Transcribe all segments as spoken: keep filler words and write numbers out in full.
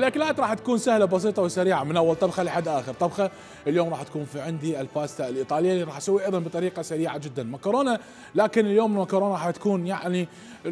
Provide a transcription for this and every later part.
الاكلات راح تكون سهله بسيطه وسريعه من اول طبخه لحد اخر طبخه. اليوم راح تكون في عندي الباستا الايطاليه اللي راح اسويها ايضا بطريقه سريعه جدا، مكرونه، لكن اليوم المكرونه راح تكون يعني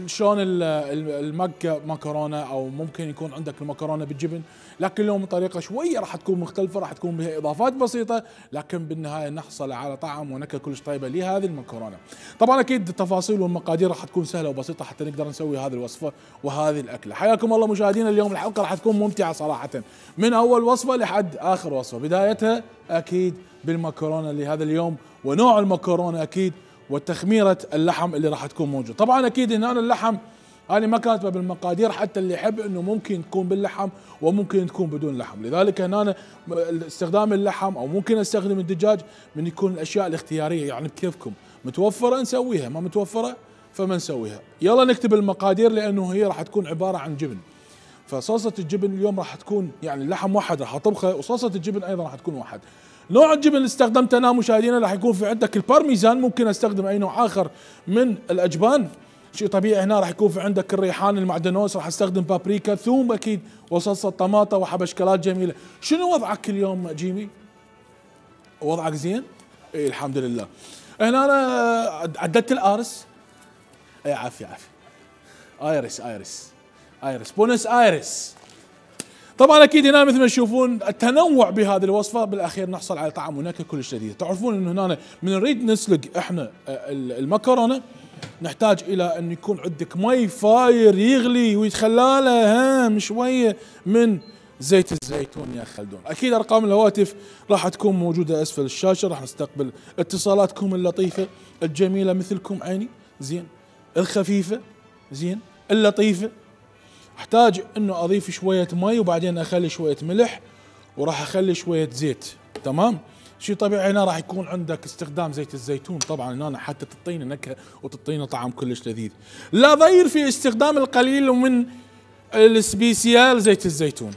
شلون المكه مكرونه، او ممكن يكون عندك المكرونه بالجبن، لكن اليوم طريقه شويه راح تكون مختلفه، راح تكون بها اضافات بسيطه، لكن بالنهايه نحصل على طعم ونكهه كلش طيبه لهذه المكرونه. طبعا اكيد التفاصيل والمقادير راح تكون سهله وبسيطه حتى نقدر نسوي هذه الوصفه وهذه الاكله. حياكم الله مشاهدينا، اليوم الحلقه راح تكون ممتعه صراحه من اول وصفه لحد اخر وصفه، بدايتها اكيد بالمكرونه لهذا اليوم ونوع المكرونه اكيد وتخميره اللحم اللي راح تكون موجود. طبعا اكيد هنا اللحم هذه ما كاتبه بالمقادير حتى اللي يحب انه ممكن تكون باللحم وممكن تكون بدون لحم، لذلك هنا استخدام اللحم او ممكن استخدم الدجاج من يكون الاشياء الاختياريه، يعني بكيفكم، متوفره نسويها، ما متوفره فما نسويها. يلا نكتب المقادير لانه هي راح تكون عباره عن جبن، فصلصه الجبن اليوم راح تكون يعني اللحم واحد راح اطبخه وصلصه الجبن ايضا راح تكون واحد. نوع الجبن اللي استخدمته انا مشاهدينا راح يكون في عندك البارميزان، ممكن استخدم اي نوع اخر من الاجبان، شيء طبيعي. هنا راح يكون في عندك الريحان المعدنوس، راح استخدم بابريكا، ثوم اكيد، وصلصه طماطه وحبشكلات جميله. شنو وضعك اليوم جيمي؟ وضعك زين؟ اي الحمد لله. هنا انا عددت الارس، اي عافيه عافيه، ايرس ايرس ايرس بونس ايرس. طبعا اكيد هنا مثل ما تشوفون التنوع بهذه الوصفه بالاخير نحصل على طعم ونكهه كلش لذيذه. تعرفون انه هنا من نريد نسلق احنا المكرونه نحتاج الى ان يكون عندك مي فاير يغلي ويتخلى له شويه من زيت الزيتون يا خلدون. اكيد ارقام الهواتف راح تكون موجوده اسفل الشاشه، راح نستقبل اتصالاتكم اللطيفه الجميله مثلكم عيني زين، الخفيفه زين، اللطيفه. احتاج انه اضيف شويه مي وبعدين اخلي شويه ملح وراح اخلي شويه زيت، تمام؟ شيء طبيعي هنا راح يكون عندك استخدام زيت الزيتون، طبعا هنا حتى تعطينا نكهه وتعطينا طعم كلش لذيذ. لا ضير في استخدام القليل من السبيسيال زيت الزيتون،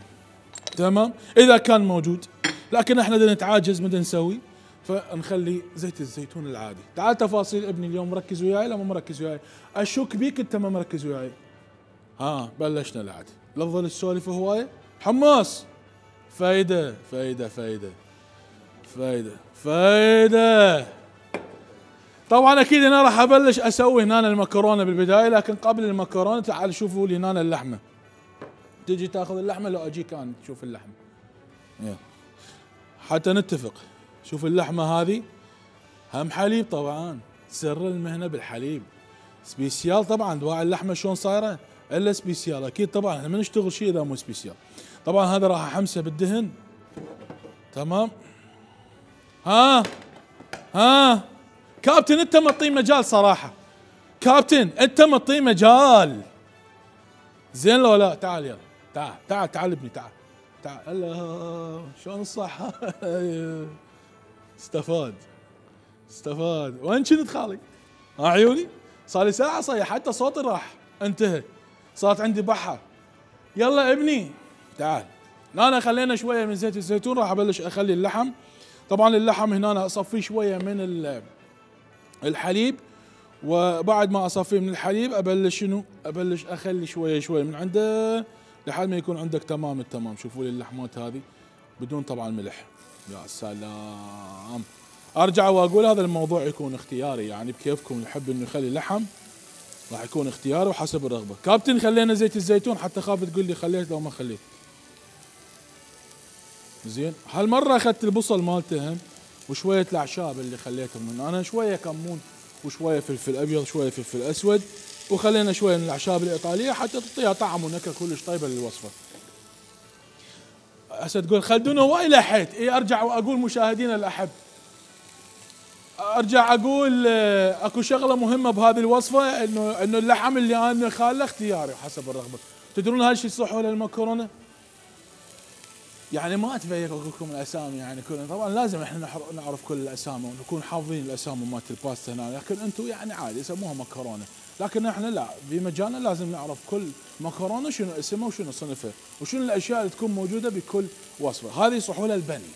تمام؟ اذا كان موجود، لكن احنا بدنا نتعاجز بدنا نسوي فنخلي زيت الزيتون العادي. تعال تفاصيل ابني اليوم، مركز وياي لا مو مركز وياي؟ اشك بيك انت ما مركز وياي. ها بلشنا العادي، لا تظل السوالف هوايه. حماس، فايده فايده فايده فايده فايده. طبعا اكيد هنا راح ابلش اسوي هنا المكرونه بالبدايه، لكن قبل المكرونه تعال شوفوا لي هنا اللحمه. تجي تاخذ اللحمه لو اجيك انا تشوف اللحمه، يلا حتى نتفق. شوف اللحمه هذه هم حليب، طبعا سر المهنه بالحليب، سبيسيال طبعا. دواعي اللحمه شلون صايره الا سبيسيال، اكيد طبعا احنا ما نشتغل شيء اذا مو سبيسيال. طبعا هذا راح احمسه بالدهن، تمام؟ ها ها كابتن انت معطيه مجال صراحه، كابتن انت معطيه مجال زين لو لا؟ تعال يلا تعال تعال تعال ابني تعال تعال. الله شلون الصحه؟ استفاد استفاد. وين كنت خالي؟ ها عيوني صار لي ساعه صيح حتى صوتي راح انتهى، صارت عندي بحه. يلا ابني تعال. انا خلينا شويه من زيت الزيتون، راح ابلش اخلي اللحم. طبعا اللحم هنا أنا اصفيه شويه من الحليب، وبعد ما اصفيه من الحليب ابلش شنو؟ ابلش اخلي شويه شويه من عنده لحد ما يكون عندك تمام التمام. شوفوا لي اللحمات هذه بدون طبعا ملح. يا سلام. ارجع واقول هذا الموضوع يكون اختياري، يعني بكيفكم، يحب انه يخلي لحم راح يكون اختياري وحسب الرغبه. كابتن خلينا زيت الزيتون حتى خاف تقول لي خليت لو ما خليت. زين هالمره اخذت البصل مالته هم وشويه الاعشاب اللي خليتهم منه، انا شويه كمون وشويه فلفل ابيض شويه فلفل اسود، وخلينا شويه من الاعشاب الايطاليه حتى تعطيها طعم ونكهه كلش طيبه للوصفه. هسه تقول خلدون هواي لحيت، اي ارجع واقول مشاهدينا الاحب، ارجع اقول اكو شغله مهمه بهذه الوصفه، انه انه اللحم اللي انا خاله اختياري وحسب الرغبه. تدرون هالشيء صح ولا المكرونه؟ يعني ما اتبين لكم الاسامي، يعني كلنا طبعا لازم احنا نعرف كل الاسامي ونكون حافظين الاسامي مالت الباستا هنا، لكن انتم يعني عادي يسموها مكرونه، لكن احنا لا، في مجالنا لازم نعرف كل مكرونه شنو اسمها وشنو صنفها وشنو الاشياء اللي تكون موجوده بكل وصفه. هذه صحول البني،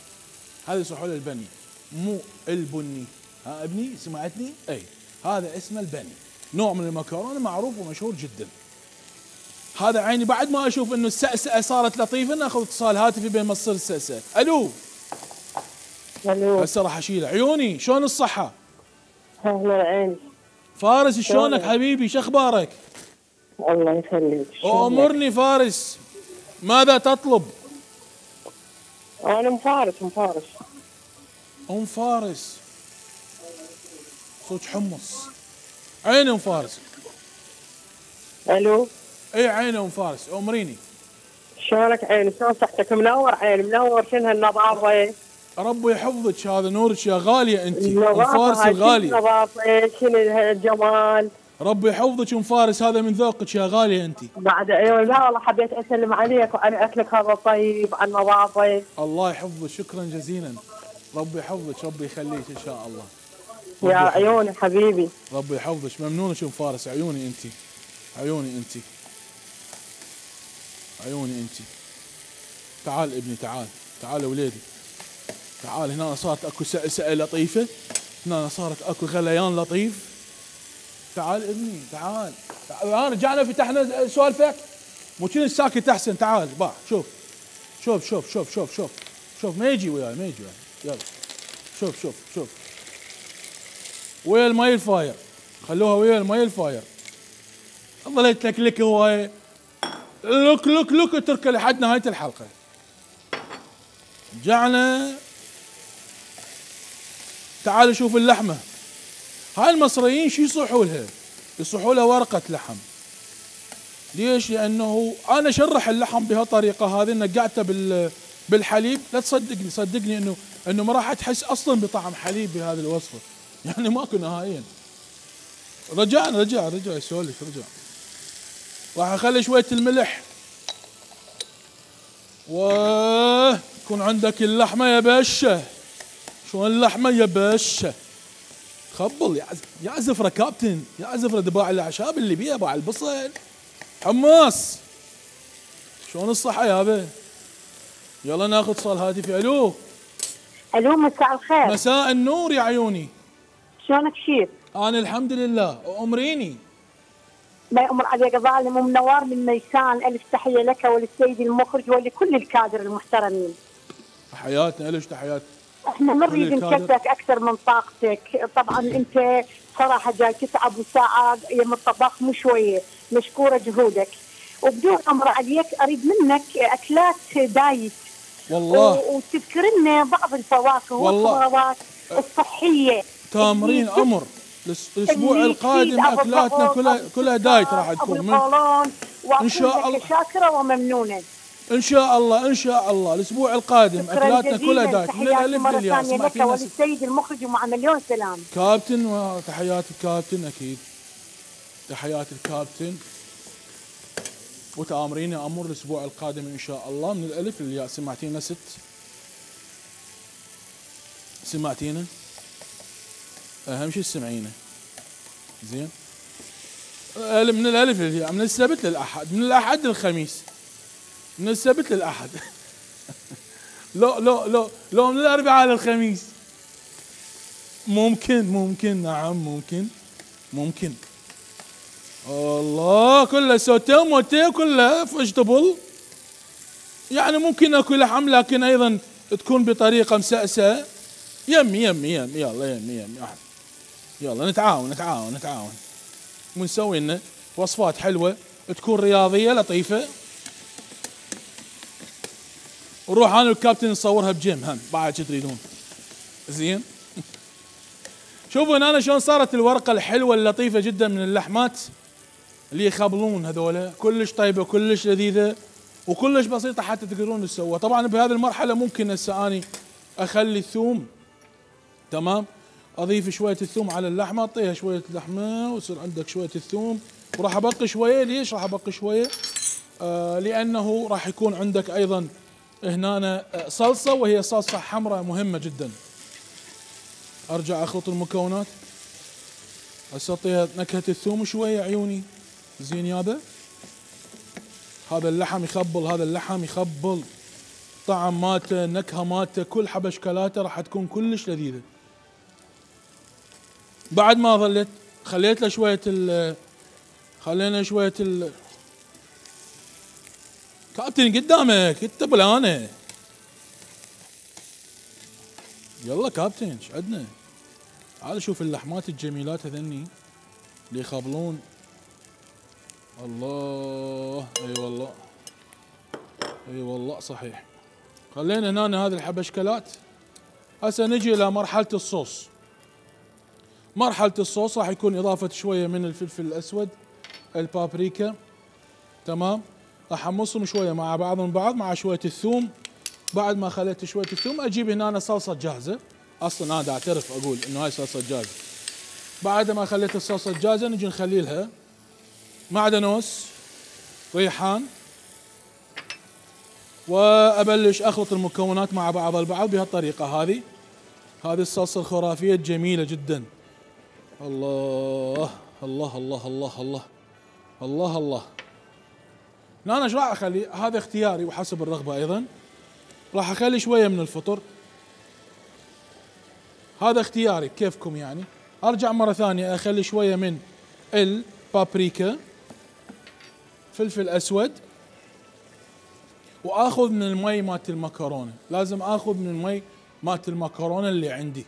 هذه صحول البني مو البني. ها ابني سمعتني؟ اي هذا اسمه البني، نوع من المكرونه معروف ومشهور جدا. هذا عيني بعد ما اشوف انه السأسأة صارت لطيفة ناخذ اتصال هاتفي بين ما تصير السأسأة. الو. الو. هسه راح اشيله. عيوني شلون الصحة؟ اهلا عيني. فارس شلونك حبيبي؟ شو اخبارك؟ الله يخليك. امرني فارس، ماذا تطلب؟ انا ام فارس. ام فارس ام فارس صوت حمص. عيني ام فارس. الو. اي عيني ام فارس امريني. شلونك عيني؟ شلون صحتك؟ منور عيني منور. شنو هالنظافه؟ ربي يحفظك، هذا نورك يا غاليه انت ام النظافة فارس هاي، الغاليه. شنو النظافه؟ شنو هالجمال؟ ربي يحفظك ام فارس، هذا من ذوقك يا غاليه انت. بعد ايوه. لا والله حبيت اسلم عليك وعن اكلك هذا الطيب، عن النظافه. الله يحفظك، شكرا جزيلا. ربي يحفظك، ربي يخليك ان شاء الله. يا عيوني حبيبي. ربي يحفظك، ممنونك ام فارس. عيوني انت، عيوني انت، عيوني انت. تعال ابني، تعال تعال وليدي، تعال. هنا صارت اكو سأسأة لطيفة، هنا صارت اكو غليان لطيف. تعال ابني تعال، تعال. رجعنا فتحنا سوالفك، مو كنت ساكت احسن. تعال باع. شوف شوف شوف شوف شوف شوف شوف ما يجي وياي، ما يجي وياي. يلا شوف شوف شوف ويا الماي الفاير، خلوها ويا الماي الفاير. ظليت لك لك هوايه. لوك لوك لوك اترك لحد نهايه الحلقه. رجعنا. تعالوا شوف اللحمه. هاي المصريين شو يصحوا لها؟ يصحوا لها ورقه لحم. ليش؟ لانه انا شرح اللحم بهالطريقه هذه، نقعته بال بالحليب. لا تصدقني، صدقني انه انه ما راح تحس اصلا بطعم حليب بهذه الوصفه، يعني ماكو نهائيا. رجعنا رجع رجع يسولف رجع. راح اخلي شويه الملح، ويكون عندك اللحمه يا باشا. شلون اللحمه يا باشا؟ خبل يا يا زفره كابتن، يا زفره دباع الاعشاب اللي بيها باع البصل. حماس شلون الصحه يابا؟ يلا ناخذ اتصال هاتفي. الو. الو مساء الخير. مساء النور يا عيوني. شلونك شيف؟ انا الحمد لله. امريني. الله يأمر عليك ظالم ومنوار من ميسان. الف تحيه لك وللسيد المخرج ولكل الكادر المحترمين. تحياتنا لك، تحيات. احنا ما نريد نكلفك اكثر من طاقتك، طبعا انت صراحه جاي تتعب وساعه يم الطباخ مو شويه، مشكوره جهودك. وبدون امر عليك اريد منك اكلات دايت والله، وتذكر لنا بعض الفواكه والخضروات الصحيه. تامرين امر. الاسبوع القادم اكلاتنا كلها كلها دايت راح تكون من ان شاء الله. شاكره وممنونه ان شاء الله. ان شاء الله الاسبوع القادم اكلاتنا كلها دايت من الالف للياء. اسمع لك وللسيد المخرج ومع مليون سلام. كابتن، وتحيات الكابتن اكيد. تحيات الكابتن وتامرين امر الاسبوع القادم ان شاء الله من الالف للياء. سمعتينا ست؟ سمعتينا؟ اهم شيء تسمعينا زين. من الالف للياء، من السبت للاحد، من الاحد للخميس، من السبت للاحد. لو لو لو لو من الاربعاء للخميس. ممكن ممكن نعم ممكن ممكن. الله كله سوتيه وموتيه كله فيجتبل. يعني ممكن اكو لحم لكن ايضا تكون بطريقه مسأسة. يمي يمي يمي يلا يمي يمي يلا نتعاون نتعاون نتعاون ونسوي لنا وصفات حلوه تكون رياضيه لطيفه. ونروح انا والكابتن نصورها بجيم هم بعد شو تريدون. زين. شوفوا هنا أنا شلون صارت الورقه الحلوه اللطيفه جدا من اللحمات اللي يخبلون هذولا، كلش طيبه كلش لذيذه وكلش بسيطه حتى تقدرون تسووها. طبعا بهذه المرحله ممكن هسه اني اخلي الثوم تمام، اضيف شويه الثوم على اللحمه، اعطيها شويه لحمه ويصير عندك شويه الثوم. وراح ابقي شويه. ليش راح ابقي شويه؟ آه لانه راح يكون عندك ايضا هنا صلصه، وهي صلصه حمراء مهمه جدا. ارجع اخلط المكونات. هسه اعطيها نكهه الثوم شويه عيوني. زين يابا. هذا اللحم يخبل، هذا اللحم يخبل. طعم مالته، نكهه مالته، كل حبشكلاته راح تكون كلش لذيذه. بعد ما ظليت خليت له شويه ال خلينا شويه ال كابتن قدامك انت بلانا. يلا كابتن ايش عندنا؟ تعال شوف اللحمات الجميلات هذني اللي يخبلون. الله اي والله اي والله صحيح. خلينا هنا هذه الحبشكلات. هسه نجي الى مرحله الصوص. مرحله الصوص راح يكون اضافه شويه من الفلفل الاسود، البابريكا، تمام. راح امصهم شويه مع بعضهم بعض مع شويه الثوم. بعد ما خليت شويه الثوم اجيب هنا صلصه جاهزه. اصلا انا اعترف اقول انه هاي صلصه جاهزه. بعد ما خليت الصلصه جاهزه نجي نخلي لها معدنوس، ريحان، وابلش اخلط المكونات مع بعض البعض بهالطريقه هذه. هذه الصلصه الخرافيه الجميله جدا. الله الله الله الله الله الله الله. انا ايش راح اخلي؟ هذا اختياري وحسب الرغبه ايضا. راح اخلي شويه من الفطر، هذا اختياري كيفكم يعني. ارجع مره ثانيه اخلي شويه من البابريكا، فلفل اسود، واخذ من المي مالت المكرونه. لازم اخذ من المي مالت المكرونه اللي عندي.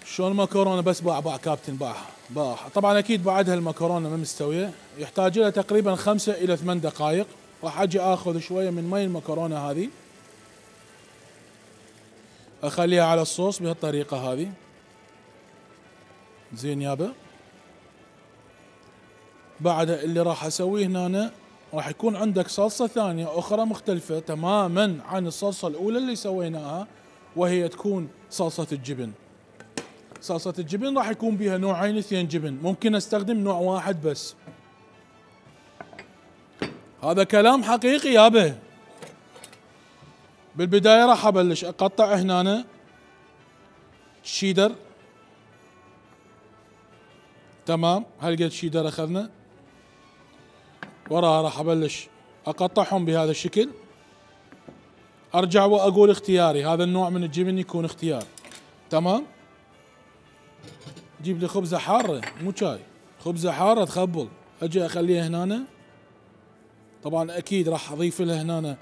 شلون المكرونه بس باع باع كابتن باع باع. طبعا اكيد بعدها المكرونه ما مستويه، يحتاج لها تقريبا خمسة الى ثمان دقائق. راح اجي اخذ شويه من مي المكرونه هذه اخليها على الصوص بهالطريقه هذه. زين يابا. بعد اللي راح اسويه هنا راح يكون عندك صلصه ثانيه اخرى مختلفه تماما عن الصلصه الاولى اللي سويناها، وهي تكون صلصه الجبن. صلصه الجبن راح يكون بها نوعين اثنين جبن، ممكن استخدم نوع واحد بس. هذا كلام حقيقي يابا. بالبدايه راح ابلش اقطع هنا شيدر، تمام. هالقد شيدر اخذنا. وراها راح ابلش اقطعهم بهذا الشكل. ارجع واقول اختياري، هذا النوع من الجبن يكون اختيار، تمام. جيب لي خبزه حاره مو شاي، خبزه حاره تخبل. اجي اخليها هنا. طبعا اكيد راح اضيف لها هنا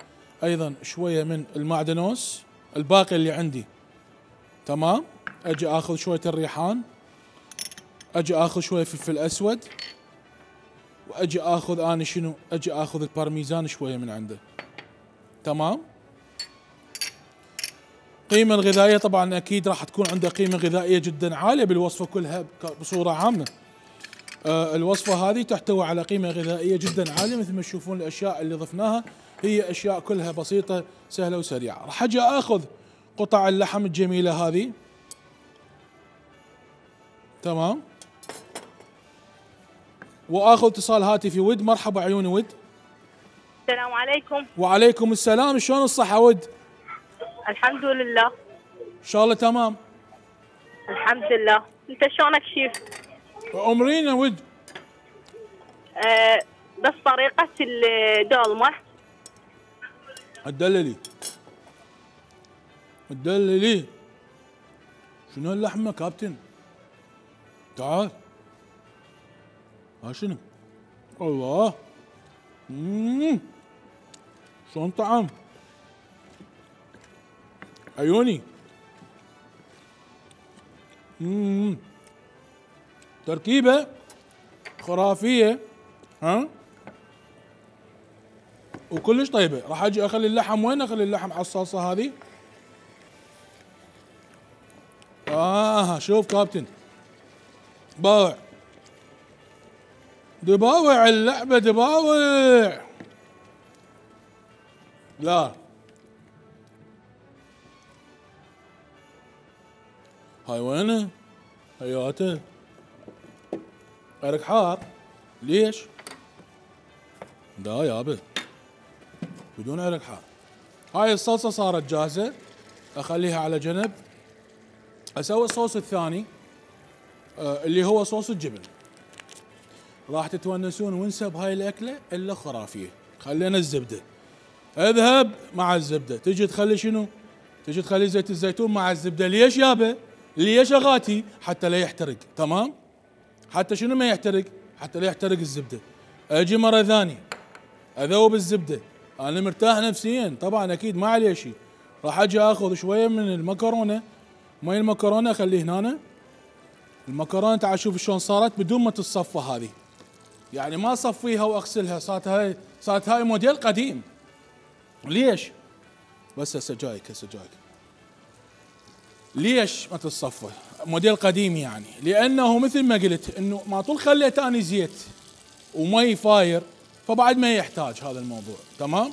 ايضا شويه من المعدنوس الباقي اللي عندي، تمام. اجي اخذ شويه الريحان، اجي اخذ شويه فلفل اسود، واجي اخذ انا شنو؟ اجي اخذ البارميزان شويه من عنده، تمام. قيمة الغذائية طبعا اكيد راح تكون عنده قيمة غذائية جدا عالية بالوصفة كلها بصورة عامة. آه الوصفة هذه تحتوي على قيمة غذائية جدا عالية. مثل ما تشوفون الاشياء اللي ضفناها هي اشياء كلها بسيطة سهلة وسريعة. راح اجي اخذ قطع اللحم الجميلة هذه، تمام. واخذ اتصال هاتفي. ود مرحبا عيوني ود. السلام عليكم. وعليكم السلام. شلون الصحة ود؟ الحمد لله. ان شاء الله تمام. الحمد لله. انت شلونك شيف؟ امرينا ود. أه بس طريقة الدولمة. تدللي تدللي. شنو اللحمة كابتن؟ تعال. ها شنو؟ الله. امم شلون طعم؟ عيوني. امم تركيبة خرافية، ها؟ وكلش طيبة. راح اجي اخلي اللحم. وين اخلي اللحم؟ على الصلصة هذه. اه شوف كابتن، باوع دباوع اللعبة، دباوع. لا هاي وينه؟ هياته عرق حار. ليش؟ لا يابا بدون عرق حار. هاي الصلصة صارت جاهزة، اخليها على جنب. اسوي الصوص الثاني آه اللي هو صوص الجبن. راح تتونسون ونسى بهاي الاكله الا خرافيه. خلينا الزبده، اذهب مع الزبده. تجي تخلي شنو؟ تجي تخلي زيت الزيتون مع الزبده. ليش يابا؟ ليش اغاتي؟ حتى لا يحترق، تمام. حتى شنو ما يحترق؟ حتى لا يحترق الزبده. اجي مره ثانيه اذوب الزبده، انا مرتاح نفسيا طبعا اكيد ما عليه شيء. راح اجي اخذ شويه من المكرونه، مي المكرونه اخليه هنا. المكرونه تعال شوف شلون صارت بدون ما تتصفى هذه، يعني ما اصفيها واغسلها، صارت هاي صارت هاي موديل قديم. ليش؟ بس هسه جايك هسه جايك. ليش ما تتصفى؟ موديل قديم يعني، لانه مثل ما قلت انه ما طول خليت اني زيت ومي فاير فبعد ما يحتاج هذا الموضوع، تمام؟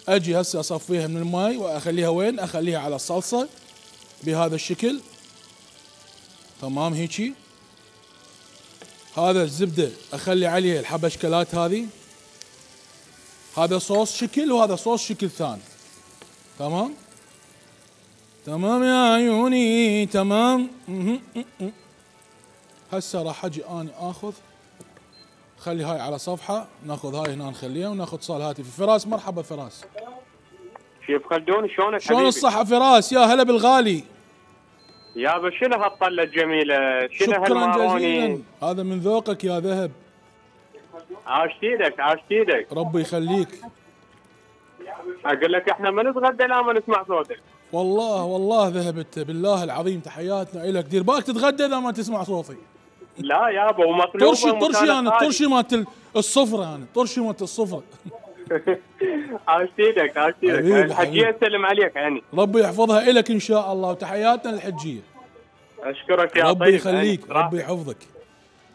اجي هسه اصفيها من المي واخليها وين؟ اخليها على الصلصه بهذا الشكل، تمام هيجي. هذا الزبده اخلي عليه الحبشكلات هذه، هذا صوص شكل وهذا صوص شكل ثاني، تمام؟ تمام يا عيوني تمام. هسه راح اجي اني اخذ، خلي هاي على صفحه، ناخذ هاي هنا نخليها وناخذ اتصال هاتفي. فراس مرحبا فراس. شيف خلدون شلونك حبيبي؟ شلون الصحة فراس؟ يا هلا بالغالي. يابا شنو هالطلة الجميلة؟ شنو شكرا هالماروني؟ جزيلا، هذا من ذوقك يا ذهب. عاش ايدك عاش ايدك. ربي يخليك. اقول لك احنا ما نتغدى لا ما نسمع صوتك. والله والله ذهبت بالله العظيم، تحياتنا إلك. دير بالك تتغدى اذا ما تسمع صوتي. لا يابا ومطلوبة. طرشي طرشي انا الطرشي مالت الصفرة، انا الطرشي مالت الصفرة. عاش ايدك عاش ايدك. الحجية تسلم عليك يعني. ربي يحفظها إلك ان شاء الله، وتحياتنا للحجية. اشكرك يا ربي طيب. يخليك ربي يحفظك.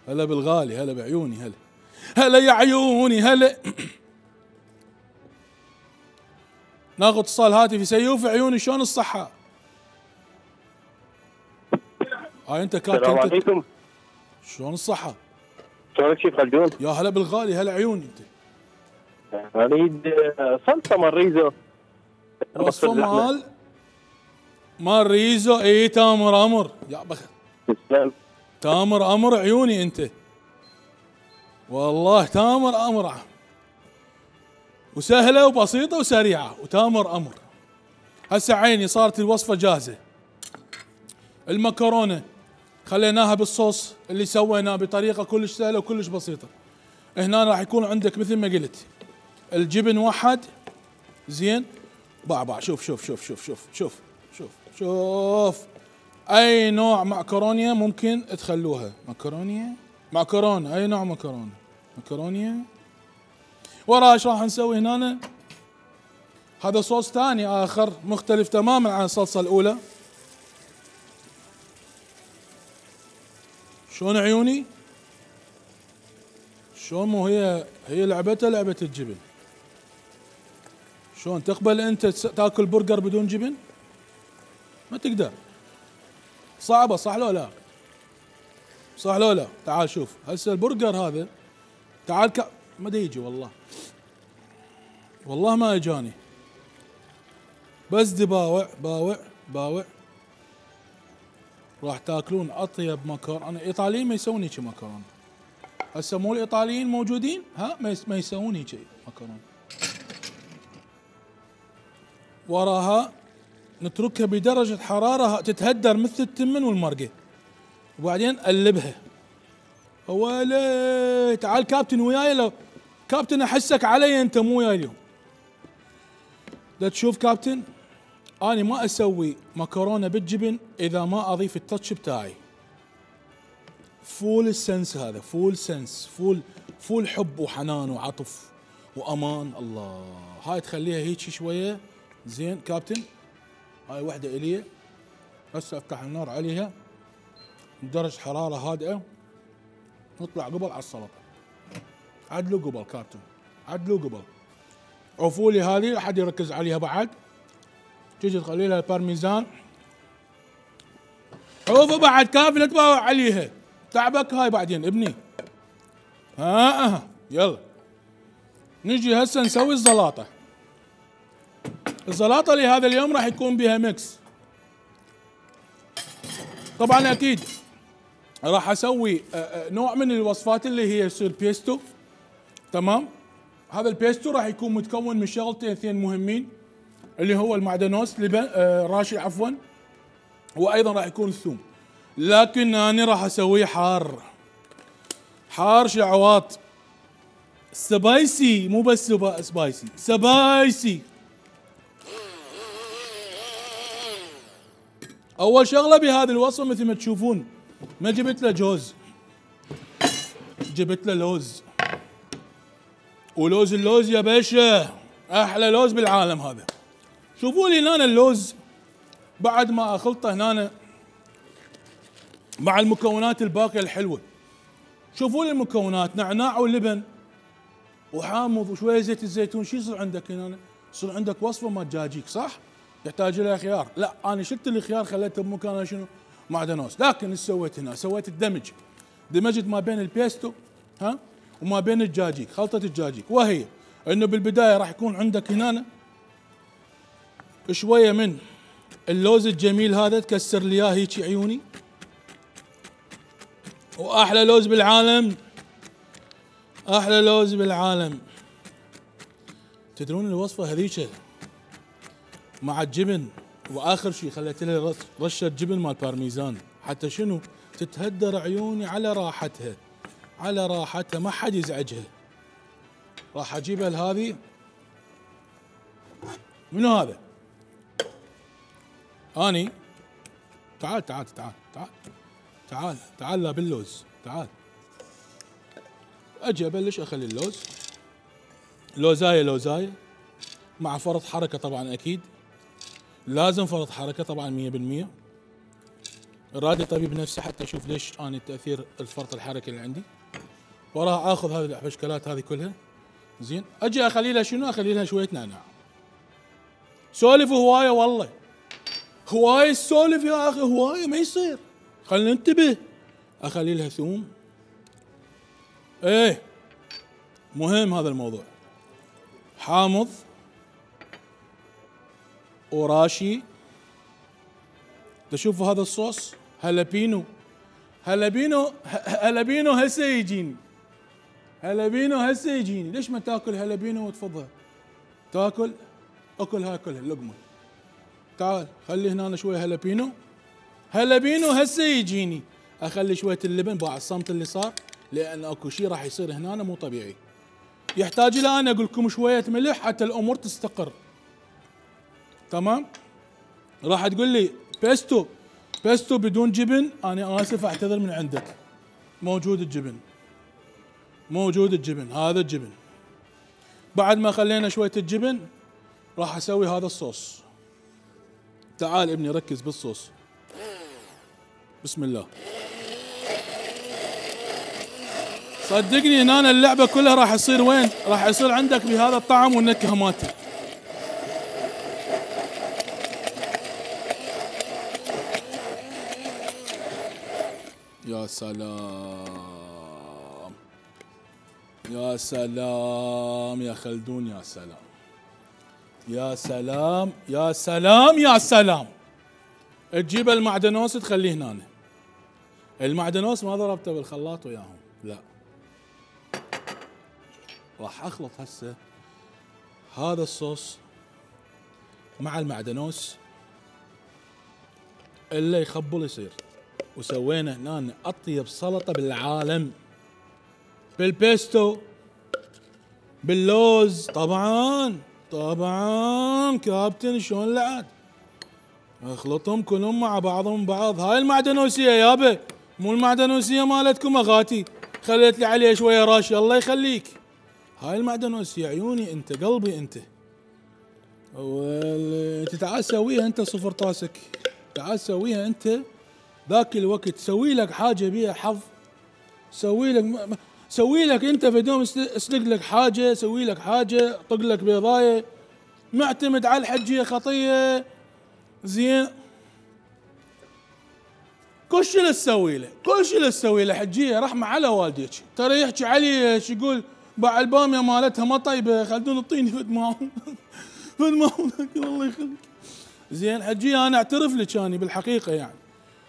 هلا بالغالي، هلا بعيوني، هلا هلا يا عيوني هلا. ناخذ اتصال هاتفي. سيوف عيوني شلون الصحة؟ هاي انت كابتن. السلام عليكم. شلون الصحة؟ شلونك شيف خلدون؟ يا هلا بالغالي، هلا عيوني انت. اريد صلصة مال ريزو. وصفة مال مال ريزو. اي تامر امر يا بخ. تسلم. تامر امر عيوني انت، والله تامر امر، وسهله وبسيطه وسريعه وتامر امر. هسه عيني صارت الوصفه جاهزه. المكرونه خليناها بالصوص اللي سويناه بطريقه كلش سهله وكلش بسيطه. هنا راح يكون عندك مثل ما قلت الجبن وحد زين. باع باع شوف شوف شوف شوف شوف شوف شوف شوف اي نوع معكرونيه ممكن تخلوها. مكرونيه معكرونه اي نوع مكرونه مكرونيه. وراها ايش راح نسوي هنا؟ هذا صوص ثاني اخر مختلف تماما عن الصلصه الاولى. شلون عيوني؟ شلون؟ مو هي هي لعبتها لعبه الجبن. شلون تقبل انت تاكل برجر بدون جبن؟ ما تقدر، صعبه صح لو لا؟ صح لو لا؟ تعال شوف هسه البرجر هذا، تعال ك... ما دا يجي والله، والله ما اجاني، بس دي باوع باوع باوع. راح تاكلون اطيب مكرونه. انا الايطاليين ما يسوون هيك مكرونه. هسه مو الايطاليين موجودين ها ما يسوون هيك مكرونه. وراها نتركها بدرجة حرارة تتهدر مثل التمن والمرقة، وبعدين قلبها. ويلي تعال كابتن وياي، لو كابتن احسك علي انت مو وياي اليوم. دا تشوف كابتن، اني ما اسوي مكرونة بالجبن اذا ما اضيف التاتش بتاعي. فول السنس هذا، فول سنس، فول فول حب وحنان وعطف وامان. الله هاي تخليها هيك شوية زين كابتن. هاي وحدة إلي، هسه افتح النار عليها بدرجة حرارة هادئة، نطلع قبل على السلطة. عدلوا قبل كابتن، عدلوا قبل. عفولي هذه لا حد يركز عليها بعد. تجي تخلي لها البارميزان. عوفوا بعد كافي لا تباوع عليها. تعبك هاي بعدين ابني. ها ها يلا. نجي هسه نسوي الزلاطة. الزلاطة لهذا اليوم راح يكون بها ميكس. طبعا اكيد راح اسوي نوع من الوصفات اللي هي يصير بيستو، تمام؟ هذا البيستو راح يكون متكون من شغلتين اثنين مهمين، اللي هو المعدنوس لبن آه راشي عفوا، وايضا راح يكون الثوم. لكن انا راح اسويه حار حار شعواط سبايسي مو بس سبا سبايسي سبايسي. اول شغله بهذه الوصفه مثل ما تشوفون ما جبت له جوز، جبت له لوز، ولوز اللوز يا باشا احلى لوز بالعالم هذا. شوفوا لي هنا اللوز بعد ما اخلطه هنا مع المكونات الباقيه الحلوه. شوفوا لي المكونات، نعناع ولبن وحامض وشويه زيت الزيتون. شو يصير عندك هنا؟ يصير عندك وصفه ما دجاجيك صح؟ يحتاج لها خيار. لا انا شلت الخيار خليته بمكانه شنو؟ معدنوس. لكن ايش سويت هنا؟ سويت الدمج، دمجت ما بين البيستو ها وما بين الدجاجيك، خلطه الدجاجيك، وهي انه بالبدايه راح يكون عندك هنا شويه من اللوز الجميل هذا، تكسر لي اياه هيك عيوني، واحلى لوز بالعالم، احلى لوز بالعالم. تدرون الوصفه هذيك مع الجبن، واخر شيء خليت لها رشه جبن مال بارميزان حتى شنو؟ تتهدر عيوني على راحتها، على راحتها ما حد يزعجها. راح اجيبها لهذه. منو هذا؟ اني تعال تعال تعال تعال تعال تعال لا باللوز تعال. اجي ابلش اخلي اللوز لوزايه لوزايه مع فرط حركه طبعا، اكيد لازم فرط حركه طبعا مية بالمية. رادي طبيب نفسي حتى اشوف ليش انا تاثير الفرط الحركي اللي عندي. وراح اخذ هذه الحبشكلات هذه كلها زين، اجي اخلي لها شنو؟ اخلي لها شويه نعناع. سولف هوايه والله، هوايه السولف يا اخي، هوايه ما يصير. خلينا ننتبه. اخلي لها ثوم، ايه مهم هذا الموضوع. حامض وراشي. تشوفوا هذا الصوص هالبينو، هالبينو هالبينو هسه يجيني، هالبينو هسه يجيني. ليش ما تاكل هالبينو وتفضل تاكل؟ اكل هاي كلها لقمه. تعال خلي هنا شويه هالبينو، هالبينو هسه يجيني. اخلي شويه اللبن باع الصمت اللي صار، لان اكو شيء راح يصير هنا مو طبيعي. يحتاج الى انا اقول لكم شويه ملح حتى الامور تستقر. تمام؟ راح تقول لي بيستو بيستو بدون جبن، انا اسف اعتذر من عندك. موجود الجبن، موجود الجبن، هذا الجبن. بعد ما خلينا شويه الجبن راح اسوي هذا الصوص. تعال ابني ركز بالصوص. بسم الله. صدقني هنا اللعبه كلها راح يصير وين؟ راح يصير عندك بهذا الطعم والنكهه مالته. يا سلام يا سلام يا خلدون، يا سلام يا سلام يا سلام يا سلام. تجيب المعدنوس تخليه هنا. المعدنوس ما ضربته بالخلاط وياهم، لا. راح اخلط هسه هذا الصوص مع المعدنوس اللي يخبل يصير. وسوينا هنا اطيب سلطه بالعالم، بالبيستو، باللوز. طبعا طبعا كابتن شلون لعد. اخلطهم كلهم مع بعضهم بعض. هاي المعدنوسيه يابا، مو المعدنوسيه مالتكم اغاتي خليت لي عليها شويه راشي. الله يخليك. هاي المعدنوسيه عيوني انت، قلبي انت. انت تعال سويها انت صفر طاسك، تعال سويها انت ذاك الوقت. سوي لك حاجه بيها حظ، سوي لك سوي لك انت في دوم، اسلق لك حاجه، سوي لك حاجه، طق لك بيضايه. معتمد على الحجيه خطيه زين. كل شيء اللي تسوي له، كل شيء اللي تسوي له حجيه رحمه على والديك. ترى يحكي علي شو يقول باع الباميه مالتها ما طيبه، خلدون اعطيني فد معهم فد معهم الله يخليك. زين حجيه انا اعترف لك اني بالحقيقه يعني،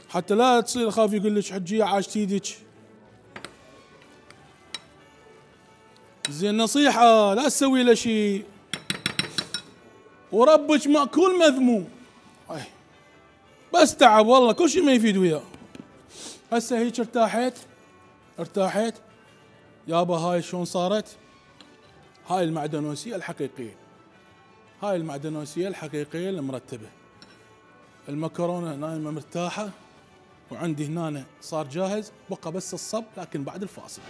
حتى لا تصير اخاف يقول لك حجيه عاشت ايدك. زين نصيحه لا تسوي له شيء، وربك ماكول مذموم. أي. بس تعب والله، كل شيء ما يفيد وياه. هسه هيك ارتاحت ارتاحت يابا. هاي شلون صارت؟ هاي المعدنوسيه الحقيقيه، هاي المعدنوسيه الحقيقيه المرتبه. المكرونه نايمه مرتاحه، وعندي هنا صار جاهز، بقى بس الصب لكن بعد الفاصل.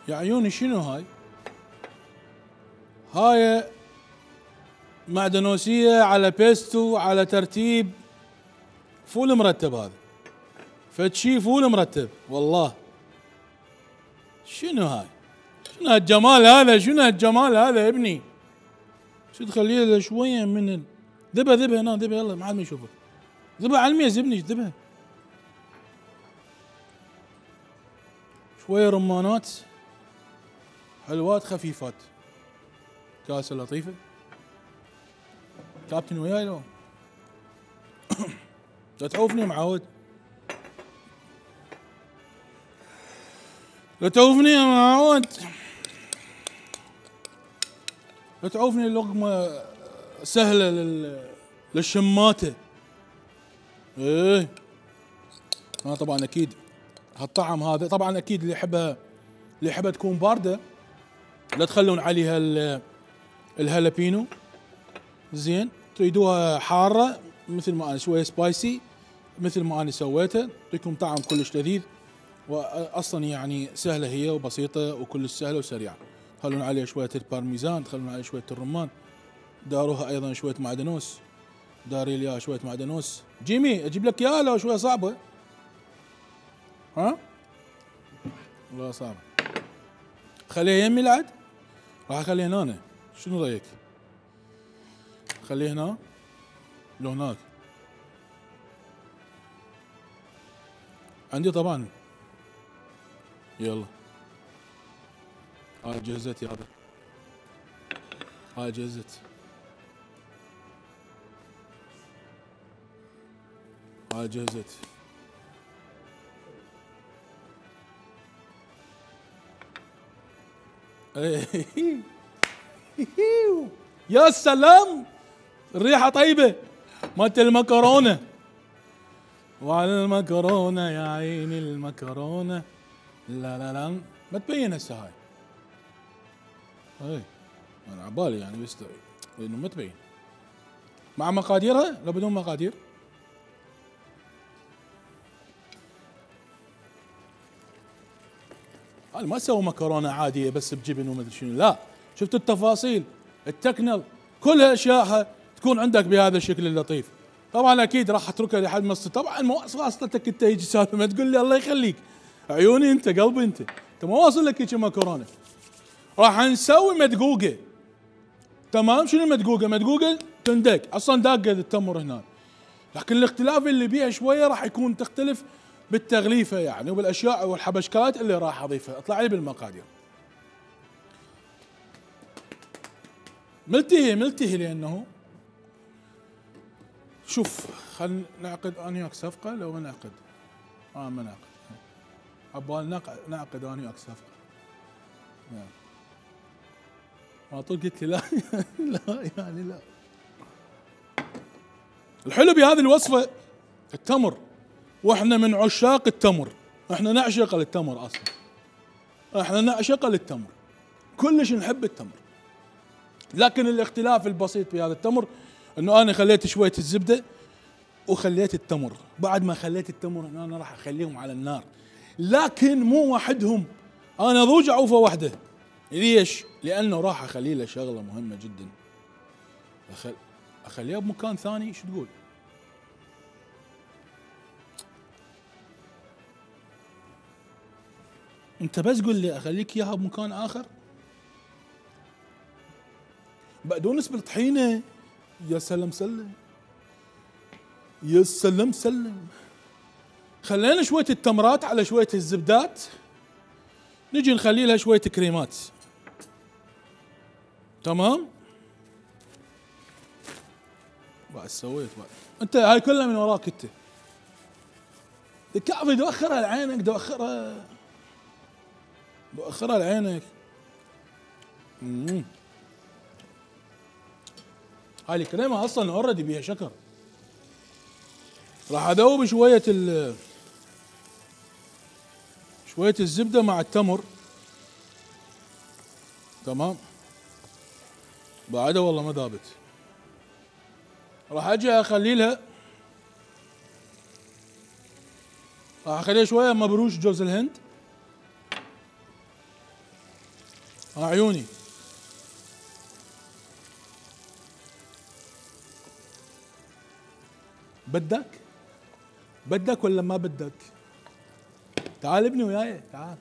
يا عيوني شنو هاي؟ هاي معدنوسية على بيستو على ترتيب فول مرتب. هذا فتشي فول مرتب والله. شنو هاي؟ شنو هالجمال هذا؟ شنو هالجمال هذا يا ابني؟ شو تخليه له شوية من ال... ذبها ذبها هنا، ذبها يلا ما حد ما يشوفك. ذبها على الميز ابني، ذبها. شوية رمانات حلوات خفيفات. كاسة لطيفة. كابتن وياي لو؟ لا تعوفني معود. لا تعوفني يا معود. لا تعوفني، اللقمة سهلة لل... للشماتة. ايه. انا طبعا اكيد هالطعم هذا طبعا اكيد اللي يحبها اللي يحبها تكون باردة لا تخلون عليها الهالبينو. زين، تريدوها حارة مثل ما انا شوية سبايسي مثل ما انا سويتها، تعطيكم طعم كلش لذيذ، واصلا يعني سهلة هي وبسيطة وكلش سهلة وسريعة. تخلون عليها شوية البارميزان، تخلون عليها شوية الرمان، داروها ايضا شوية معدنوس، داري لي شوية معدنوس. جيمي اجيب لك اياها لو شوية صعبة؟ ها؟ والله صعبة. خليها يمي العد؟ راح اخليها هنا. شنو رايك؟ خليه هنا لو هناك؟ عندي طبعا. يلا هاي جهزت يا هذا، هاي جهزت، هاي جهزت. يا سلام، الريحة طيبة مالت المكرونة. وعلى المكرونة يا عيني المكرونة. لا لا لا ما تبين هسه هاي. اي انا عبالي يعني بس لانه ما تبين. مع مقاديرها لو بدون مقادير؟ انا ما اسوي مكرونه عاديه بس بجبن وما ادري شنو، لا، شفت التفاصيل، التكنل، كل اشيائها تكون عندك بهذا الشكل اللطيف. طبعا اكيد راح اتركها لحد ما طبعا ما واصلتك انت يجي سالفه ما تقول لي الله يخليك عيوني انت قلبي انت انت ما واصل لك هيك مكرونه. راح نسوي مدقوقه. تمام. شنو مدقوقه؟ مدقوقه تندق اصلا داقه التمر هنا، لكن الاختلاف اللي بيها شويه راح يكون تختلف بالتغليفه يعني وبالاشياء والحبشكات اللي راح اضيفها. اطلع لي بالمقادير. ملتهي ملتهي لانه شوف خلينا نعقد انا وياك صفقه لو ما نعقد. اه ما نعقد. عبال نعقد نعقد انا وياك صفقه. نعم. ما طول قلت لي لا لا يعني لا. الحلو بهذه الوصفه التمر، واحنا من عشاق التمر، احنا نعشق التمر اصلا. احنا نعشق التمر. كلش نحب التمر. لكن الاختلاف البسيط في هذا التمر انه انا خليت شويه الزبده وخليت التمر. بعد ما خليت التمر انا راح اخليهم على النار، لكن مو وحدهم، انا ضوج عوفه واحده. ليش؟ لانه راح اخلي له شغله مهمه جدا. أخل... اخليها بمكان ثاني. شو تقول؟ انت بس قل لي اخليك اياها بمكان اخر. بقدونس بالطحينه. يا سلام سلم، يا سلام سلم. خلينا شويه التمرات على شويه الزبدات، نجي نخلي لها شويه كريمات. تمام. بعد سويت بعد انت هاي كلها من وراك انت. الكعبة دوخرها لعينك، دوخرها دوخرها لعينك. امم هاي الكريمة اصلا اوريدي بيها شكر. راح ادوب شوية ال شوية الزبدة مع التمر. تمام. بعدها والله ما ذابت. راح اجي اخلي لها، راح اخليها شويه مبروش جوز الهند. ها عيوني. بدك؟ بدك ولا ما بدك؟ تعال ابني وياي، تعال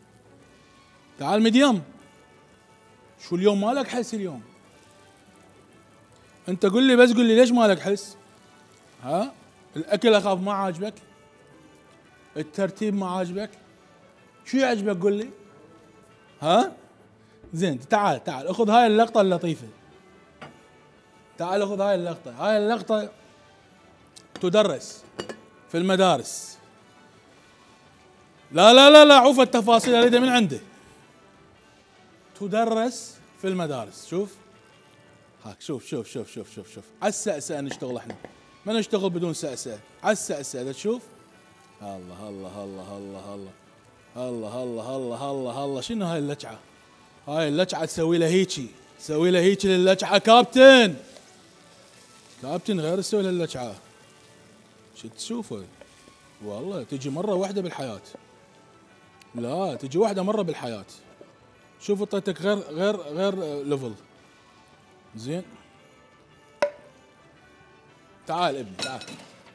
تعال مديم. شو اليوم مالك حس اليوم؟ انت قل لي بس، قل لي ليش مالك حس؟ ها؟ الاكل اخاف ما عاجبك؟ الترتيب ما عاجبك؟ شو يعجبك قل لي؟ ها؟ زين تعال تعال اخذ هاي اللقطة اللطيفة. تعال خذ هاي اللقطة، هاي اللقطة تدرس في المدارس. لا لا لا لا عوف التفاصيل اريدها من عنده. تدرس في المدارس. شوف هاك، شوف شوف شوف شوف شوف شوف على السأسأة نشتغل احنا، ما نشتغل بدون سأسأة. على السأسأة اذا تشوف. الله الله الله الله الله الله الله الله الله الله. شنو هاي اللجعة؟ هاي اللجعة تسوي لها هيجي، تسوي لها هيجي للجعة كابتن. كابتن غير تسوي لها اللجعة. شو تشوفه؟ والله تجي مرة واحدة بالحياة. لا تجي واحدة مرة بالحياة. شوف اعطيتك غير غير غير ليفل. زين تعال ابني، تعال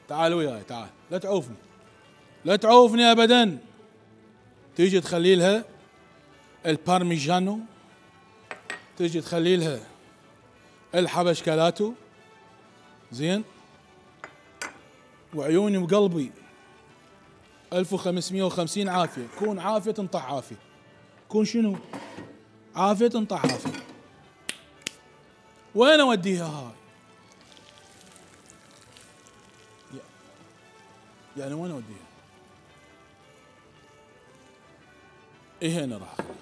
تعال وياي، تعال لا تعوفني، لا تعوفني ابدا. تيجي تخلي لها البارميجانو، تيجي تخلي لها الحبشكلاتو. زين وعيوني وقلبي ألف وخمسمية وخمسين عافية. كون عافية تنطح عافية. كون شنو؟ عافية تنطح عافية. وين اوديها هاي؟ يعني وين اوديها؟ ايه هنا راح اخليها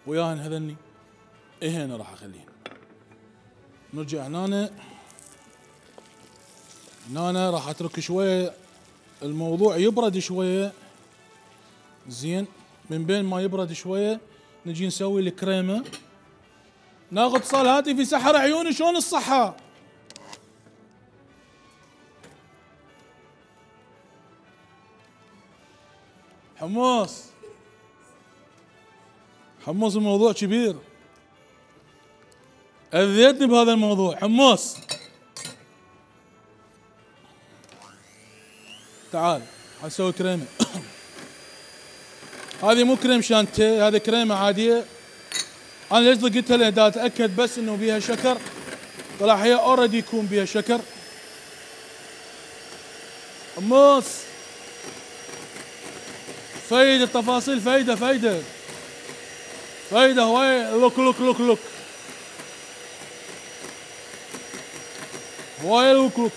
وياهن هذني. ايه هنا راح اخليهن. نرجع هنا. هنا راح اترك شويه الموضوع يبرد شويه. زين من بين ما يبرد شويه نجي نسوي الكريمه. ناخذ اتصال هاتفي. سحر عيوني شلون الصحه؟ حمص حمص الموضوع كبير. اذيتني بهذا الموضوع حمص. تعال حنسوي كريمه. هذه مو كريم شانتيه، هذه كريمه عاديه. انا ليش ضقتها؟ لان دا اتاكد بس انه بيها شكر. طلع هي اوريدي يكون بيها شكر. حمص فايدة التفاصيل، فايدة فايدة فايدة هواي. لوك لوك لوك لوك هواي لوك لوك.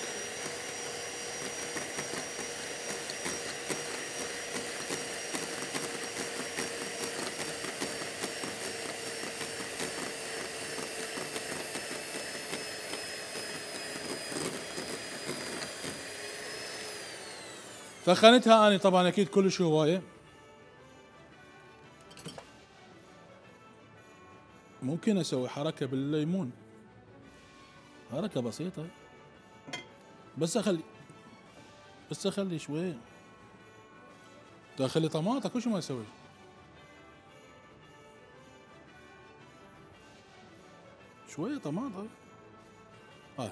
ثخنتها اني طبعا اكيد كلش هوايه. ممكن اسوي حركه بالليمون، حركه بسيطه بس اخلي بس اخلي شويه. اخلي طماطه كل شيء ما اسوي. شويه طماطه هاي.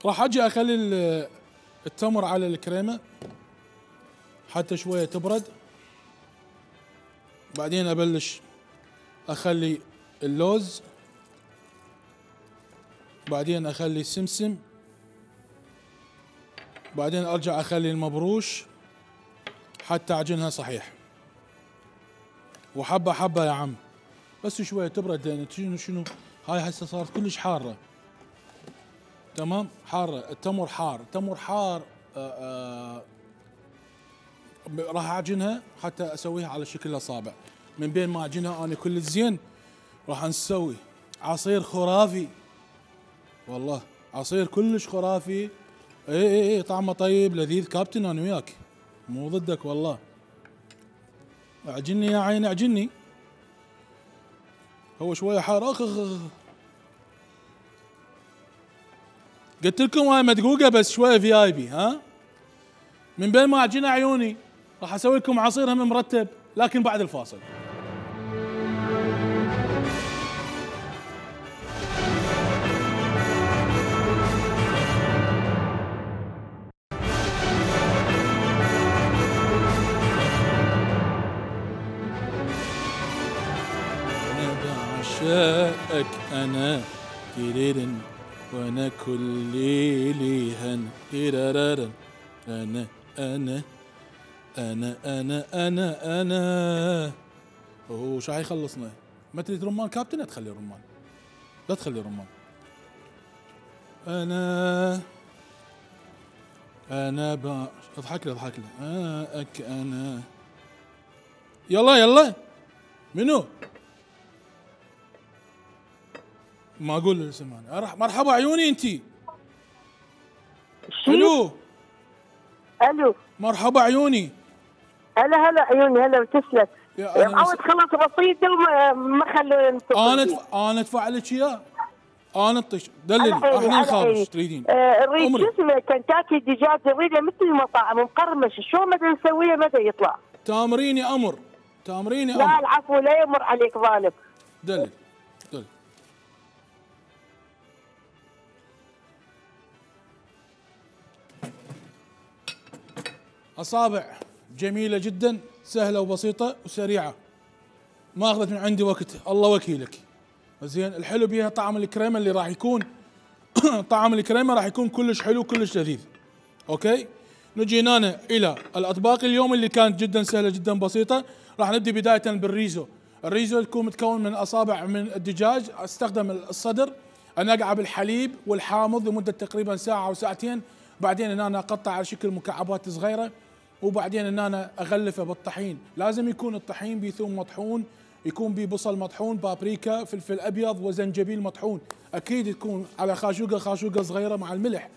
راح اجي اخلي التمر على الكريمه حتى شويه تبرد. بعدين ابلش اخلي اللوز، بعدين اخلي السمسم، بعدين ارجع اخلي المبروش حتى اعجنها صحيح. وحبه حبه يا عم، بس شويه تبرد لان شنو شنو هاي هسه صارت كلش حاره. تمام حاره، التمر حار، التمر حار. آآ آآ راح اعجنها حتى اسويها على شكل اصابع. من بين ما اعجنها انا كل زين راح نسوي عصير خرافي، والله عصير كلش خرافي. اي اي اي طعمه طيب لذيذ كابتن، انا وياك مو ضدك والله. اعجني يا عين اعجني. هو شويه حار. اخ اخ قلت لكم هاي مدقوقه بس شويه في اي بي. ها من بين ما اعجنها عيوني راح اسوي لكم عصير هم مرتب لكن بعد الفاصل. انا بعشقك انا تيريرن وانا كل ليلي هن تيرارن انا انا انا انا انا انا اوه شو حيخلصنا؟ ما تريد رمان كابتن؟ لا تخلي رمان، لا تخلي رمان. انا انا با اضحك لي اضحك لي آه اك انا. يلا يلا منو؟ ما اقول الاسم انا. مرحبا عيوني انتي. الو الو مرحبا عيوني. هلا هلا عيوني هلا وتسلم. يا أنا عاود خلص بسيطه وما ما خلوني انا تف... انا ادفع لك اياه. انا اطش دللي احنا نخابش تريدين. آه نريد شو اسمه كنتاكي دجاج نريده مثل المطاعم مقرمش، شلون مدى نسويه مدى يطلع؟ تامريني امر تامريني لا امر. العفو لا يمر عليك ظالم. دلل دلل. اصابع جميله جدا سهله وبسيطه وسريعه، ما اخذت من عندي وقت الله وكيلك. زين الحلو بيها طعم الكريمه اللي راح يكون طعم الكريمه راح يكون كلش حلو كلش لذيذ. اوكي نجي هنا الى الاطباق اليوم اللي كانت جدا سهله جدا بسيطه. راح نبدي بدايه بالريزو. الريزو يكون متكون من اصابع من الدجاج. استخدم الصدر انقعه بالحليب والحامض لمده تقريبا ساعه او ساعتين، بعدين ان انا اقطع على شكل مكعبات صغيره، وبعدين ان انا اغلفه بالطحين. لازم يكون الطحين بثوم مطحون، يكون به بصل مطحون، بابريكا، فلفل ابيض وزنجبيل مطحون. اكيد تكون على خاشوقه خاشوقه صغيره مع الملح.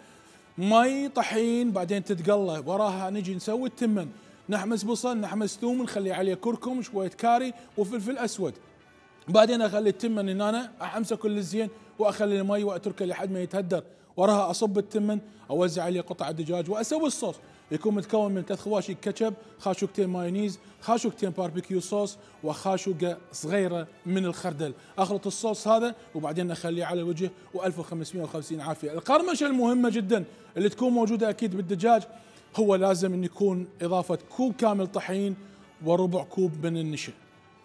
مي طحين بعدين تتقلى. وراها نجي نسوي التمن، نحمس بصل نحمس ثوم نخلي عليه كركم شويه كاري وفلفل اسود. بعدين اخلي التمن ان انا احمسه كل زين واخلي المي واتركه لحد ما يتهدر. وراها اصب التمن اوزع عليه قطع الدجاج واسوي الصوص. يكون متكون من ثلاث خواشي كاتشب، خاشوقتين مايونيز، خاشوقتين باربيكيو صوص، وخاشوقه صغيره من الخردل. اخلط الصوص هذا وبعدين اخليه على الوجه وألف وخمسمئة وخمسين عافيه. القرمشه المهمه جدا اللي تكون موجوده اكيد بالدجاج هو لازم ان يكون اضافه كوب كامل طحين وربع كوب من النشا.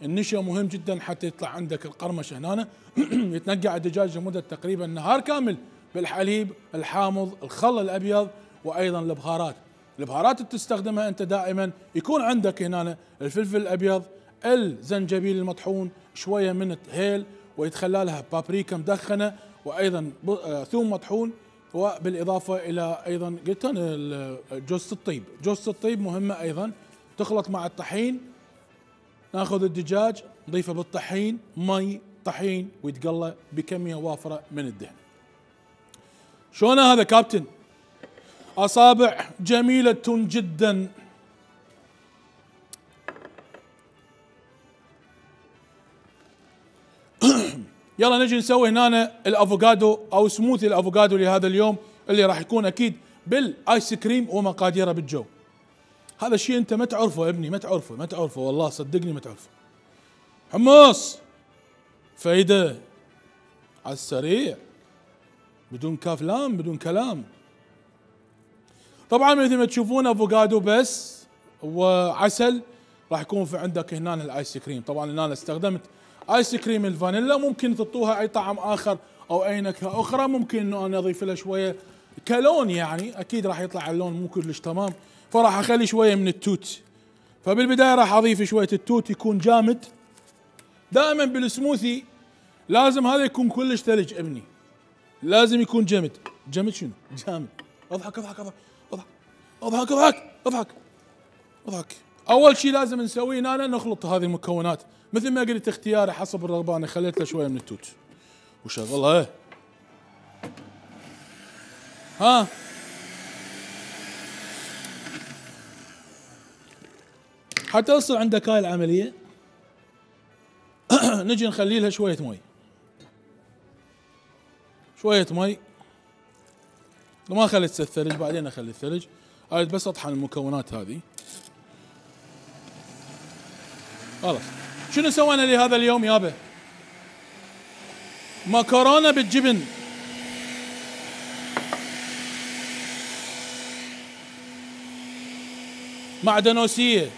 النشا مهم جدا حتى يطلع عندك القرمشه هنا. يتنقع الدجاج لمده تقريبا نهار كامل بالحليب الحامض الخل الابيض وايضا البهارات. البهارات اللي تستخدمها انت دائما يكون عندك هنا الفلفل الابيض، الزنجبيل المطحون، شويه من الهيل، ويتخلى لها بابريكا مدخنه، وايضا ثوم مطحون، وبالاضافه الى ايضا قلت انا جوز الطيب. جوز الطيب مهمه ايضا. تخلط مع الطحين. ناخذ الدجاج نضيفه بالطحين، مي طحين، ويتقلى بكميه وافره من الدهن. شلون هذا كابتن؟ اصابع جميله جدا. يلا نجي نسوي هنا الافوكادو او سموثي الافوكادو لهذا اليوم اللي راح يكون اكيد بالايس كريم ومقاديره بالجو. هذا الشيء انت ما تعرفه يا ابني، ما تعرفه ما تعرفه والله صدقني ما تعرفه. حمص فايده على السريع بدون كاف لام بدون كلام. طبعا مثل ما تشوفون افوكادو بس وعسل. راح يكون في عندك هنا الايس كريم. طبعا هنا استخدمت ايس كريم الفانيلا، ممكن تحطوها اي طعم اخر او اي نكهه اخرى. ممكن انه انا اضيف لها شويه كلون، يعني اكيد راح يطلع اللون مو كلش تمام، فراح اخلي شويه من التوت. فبالبدايه راح اضيف شويه التوت يكون جامد دائما بالسموثي لازم هذا يكون كلش ثلج ابني، لازم يكون جمد. جمد شنو؟ جامد. اضحك اضحك اضحك اضحك اضحك اضحك اضحك اضحك. اول شيء لازم نسويه هنا نخلط هذه المكونات مثل ما قلت اختياري حسب الرغبه. انا خليت له شويه من التوت وشغلها. ها حتى تصل عندك هاي العمليه نجي نخلي لها شويه مي، شويه مي ما خليت الثلج، بعدين اخلي الثلج. هاي بس اطحن المكونات هذه خلاص. شنو سوينا لهذا اليوم يابا؟ مكرونه بالجبن. معدنوسيه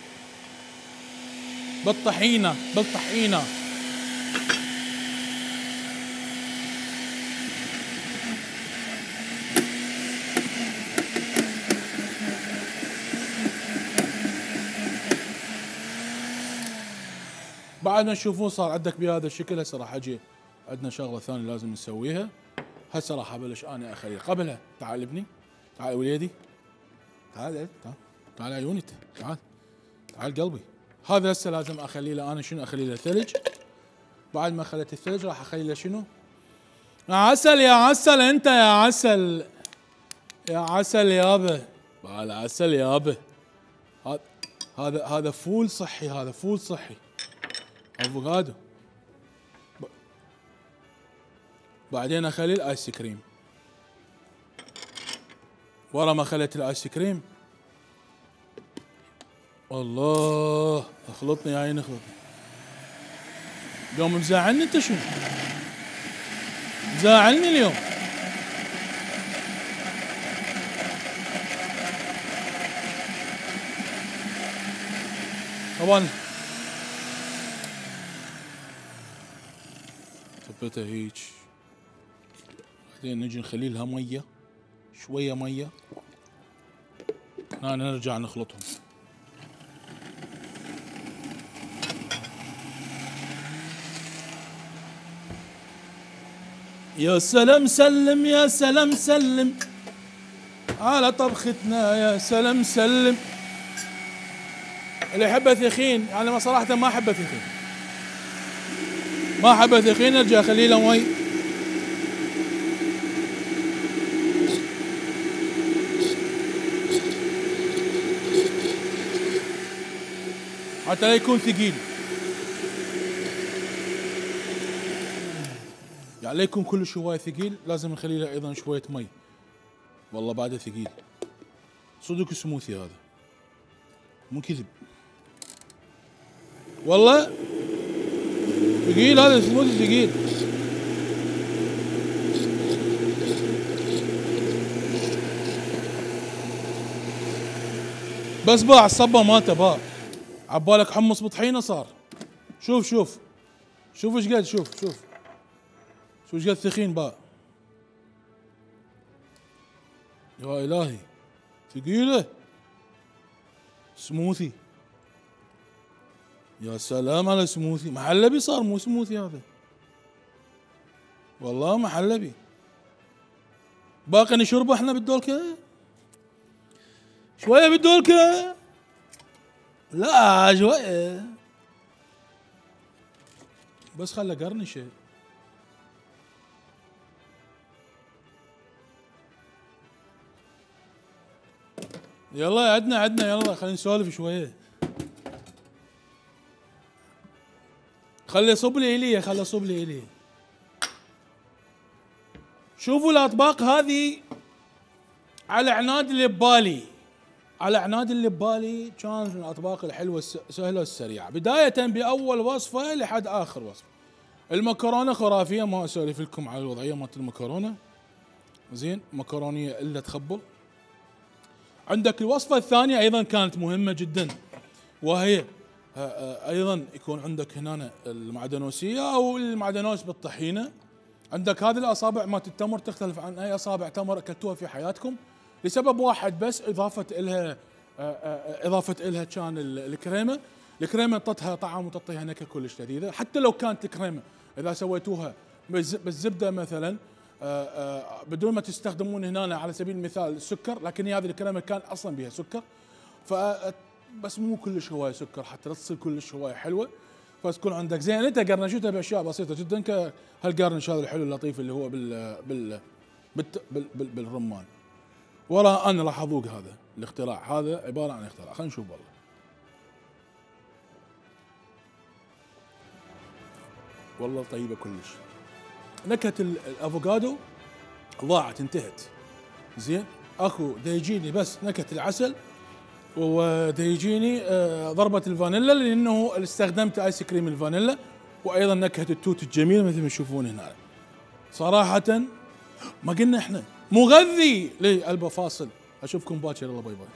بالطحينه بالطحينه. بعد ما تشوفون صار عندك بهذا الشكل. هسه راح اجي عندنا شغله ثانيه لازم نسويها. هسه راح ابلش انا اخلي قبلها. تعال ابني، تعال وليدي، تعال تعال تعال عيوني، تعال تعال قلبي. هذا هسه لازم اخلي له انا شنو؟ اخلي له ثلج. بعد ما خليت الثلج راح اخلي له شنو؟ يا عسل يا عسل انت يا عسل يا عسل يابا، هذا عسل يابا. هذا هذا هذا فول صحي، هذا فول صحي افوكادو. بعدين اخلي الايس كريم. ورا ما خليت الايس كريم الله اخلطني يا عيني اخلطني. اليوم مزعلني انت شنو؟ مزعلني اليوم. طبعا ثبتها هيج. بعدين نجي نخلي لها ميه، شويه ميه. هنا نرجع نخلطهم. يا سلام سلم يا سلام سلم على طبختنا، يا سلام سلم. اللي يحبه ثخين، يعني ما صراحة ما احبه ثخين، ما احبه ثخين. ارجع اخلي له مي. حتى لا يكون ثقيل، يعني لا يكون كل شوية ثقيل. لازم نخلي له ايضا شوية مي. والله بعده ثقيل صدق. سموثي هذا مو كذب، والله ثقيل هذا سموثي ثقيل. بس باع الصبة مالته باع. عبالك حمص بطحينة صار. شوف شوف شوف ايش قد، شوف شوف شوف ايش قد ثخين باع. يا الهي ثقيلة سموثي. يا سلام على سموثي. محلبي صار مو سموثي هذا، والله محلبي. باقي نشربه احنا بالدولكة شوية بالدولكة. لا شوية بس خله قرنشة. يلا عدنا عدنا يلا خلينا نسولف شوية. خلي صب لي إليه، خلي صب لي إليه. شوفوا الأطباق هذه على عناد اللي ببالي، على عناد اللي ببالي كانت من الأطباق الحلوة السهلة والسريعة. بداية بأول وصفة لحد آخر وصفة. المكرونة خرافية، ما أسولف لكم على الوضعية مالت المكرونة. زين، مكرونية إلا تخبل. عندك الوصفة الثانية أيضا كانت مهمة جدا، وهي أيضا يكون عندك هنا المعدنوسية أو المعدنوس بالطحينة. عندك هذه الأصابع مالت التمر تختلف عن أي أصابع تمر أكلتوها في حياتكم لسبب واحد بس، إضافة إلها إضافة إلها كان الكريمة. الكريمه تعطيها طعم وتعطيها نكهه كلش لذيذه، حتى لو كانت الكريمه اذا سويتوها بالزبده مثلا آآ آآ بدون ما تستخدمون هنا على سبيل المثال السكر، لكن هذه الكريمه كان اصلا بها سكر، ف بس مو كلش هوايه سكر حتى لا تصير كلش هوايه حلوه، فتكون عندك زين. انت قرنشتها باشياء بسيطه جدا كهالقرنش هذا الحلو اللطيف اللي هو بال بال بال بال بالرمان. ورا انا راح اذوق هذا الاختراع، هذا عباره عن اختراع، خلينا نشوف والله. والله طيبه كلش. نكهه الافوكادو ضاعت انتهت. زين اكو دا يجيني بس نكهه العسل ودا يجيني آه ضربه الفانيلا لانه استخدمت ايس كريم الفانيلا، وايضا نكهه التوت الجميله مثل ما تشوفون هنا. صراحه ما قلنا احنا مغذي. لي البا فاصل، اشوفكم باكر، يلا باي باي.